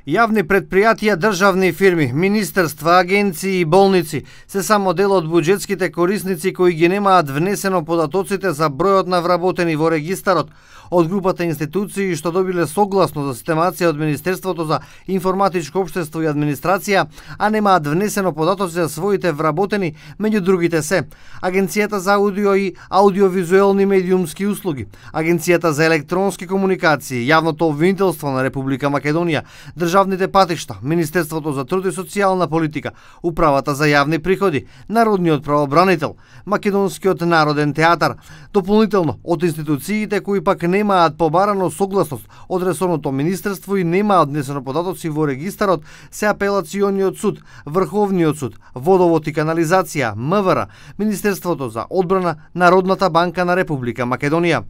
Јавни предпријатија, државни фирми, министерства, агенции и болници се само дел од буџетските корисници кои ги немаат внесено податоците за бројот на вработени во регистарот. Од групата институции што добиле согласно за системација од Министерството за информатичко општество и администрација, а немаат внесено податоци за своите вработени, меѓу другите се Агенцијата за аудио и аудиовизуелни медиумски услуги, Агенцијата за електронски комуникации, Јавното обвинителство на Република Македонија, државните патишта, Министерството за труд и социјална политика, Управата за јавни приходи, Народниот правобранител, Македонскиот народен театар. Дополнително од институциите кои пак немаат побарано согласност од ресорното министерство и немаат внесено податоци во регистарот се Апелациониот суд, Врховниот суд, Водовод и канализација, МВР, Министерството за одбрана, Народната банка на Република Македонија.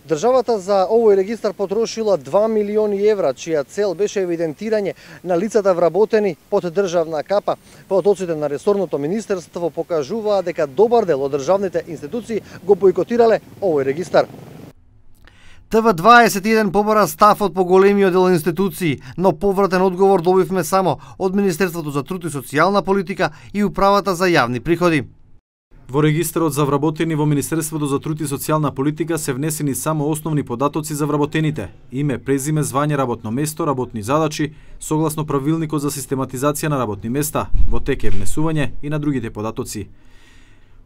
Државата за овој регистар потрошила 2 милиони евра, чија цел беше евидентирање на лицата вработени под државна капа. Податоците на ресорното министерство покажуваат дека добар дел од државните институции го бойкотирале овој регистар. ТВ21 побара став од поголемиот дел институции, но повратен одговор добивме само од Министерството за труд и социјална политика и Управата за јавни приходи. Во регистарот за вработени во Министерството за труд и социјална политика се внесени само основни податоци за вработените: име, презиме, звање, работно место, работни задачи, согласно правилникот за систематизација на работни места, во тек е внесување и на другите податоци.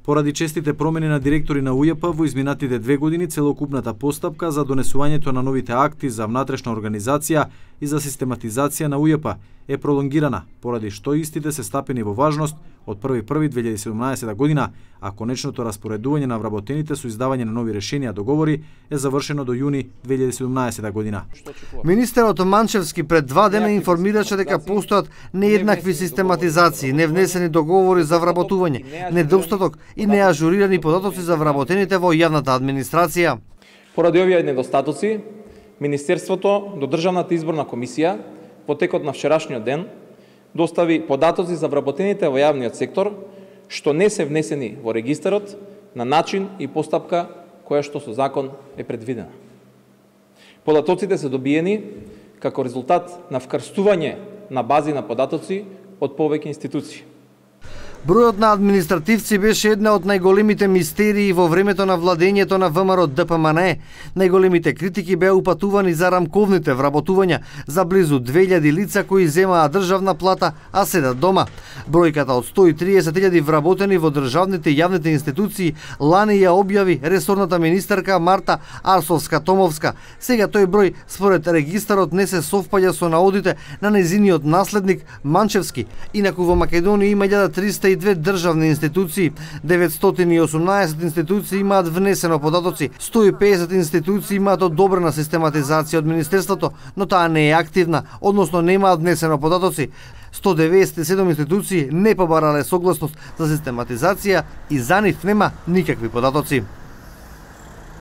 Поради честите промени на директори на УЈП во изминатите 2 години, целокупната постапка за донесувањето на новите акти за внатрешна организација и за систематизација на УЈП е пролонгирана, поради што истите се стапени во важност од 1.1.2017 година, а конечното распоредување на вработените со издавање на нови решенија договори е завршено до јуни 2017 година. Министерот Манчевски пред 2 дена информираше дека постојат нееднакви систематизации, невнесени договори за вработување, недостаток и неажурирани податоци за вработените во јавната администрација. Поради овие недостатоци, Министерството до Државната изборна комисија во текот на вчерашниот ден достави податоци за вработените во јавниот сектор што не се внесени во регистарот на начин и постапка која што со закон е предвидена. Податоците се добиени како резултат на вкрстување на бази на податоци од повеќе институции. Бројот на административци беше една од најголемите мистерии во времето на владењето на ВМРО ДПМН. Најголемите критики беа упатувани за рамковните вработувања за близу 2000 лица кои земаат државна плата, а седат дома. Бројката од 130.000 вработени во државните и јавните институции лани ја објави ресорната министерка Марта Арсовска-Томовска. Сега тој број според регистарот не се совпаѓа со наодите на нејзиниот наследник Манчевски. Инаку во Македонија има 1302 државни институции, 918 институции имаат внесено податоци, 150 институции имаат одобрена систематизација од Министерството, но таа не е активна, односно немаат внесено податоци. 197 институции не побарале согласност за систематизација и за нив нема никакви податоци.